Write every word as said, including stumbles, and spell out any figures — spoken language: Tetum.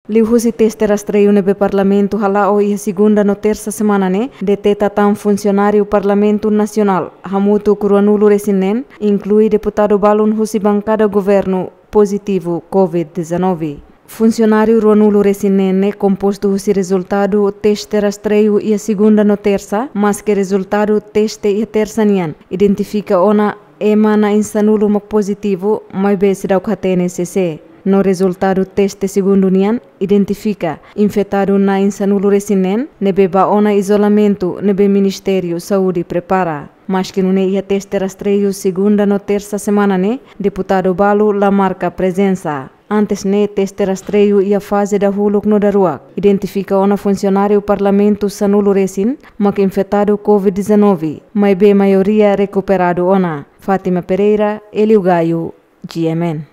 Liuhusi teste rastreiu ne'ebé Parlamentu hala'o iha segunda no tersa semana ne'e, deteta tan funsionáriu Parlamentu Nasionál hamutuk ruanulu resin neen, inklui deputadu balun husi bankada governu, pozitivu covid dezanove. Funsionáriu ruanulu resin neen ne'e kompostu husi rezultadu teste rastreiu iha segunda no tersa, maske rezultadu teste iha tersa nian identifika ona ema na'in sanulu mak pozitivu, maibé seidauk hatene sé-sé. No rezultadu teste segundu nian identifika infetadu na'in sanulu resin neen ne'ebé bá ona izolamentu ne'ebé Ministériu Saúde prepara. Maske nune'e, iha teste rastreiu segunda no tersa semana ne'e, deputadu balu la marka prezensa. Antes ne'e, teste rastreiu iha faze dahuluk no daruak identifika ona funsionáriu Parlamentu sanulu resin mak infetadu covid dezanove, maibé maioria rekuperadu ona. Fátima Pereira, Hélio Gaio, G M N.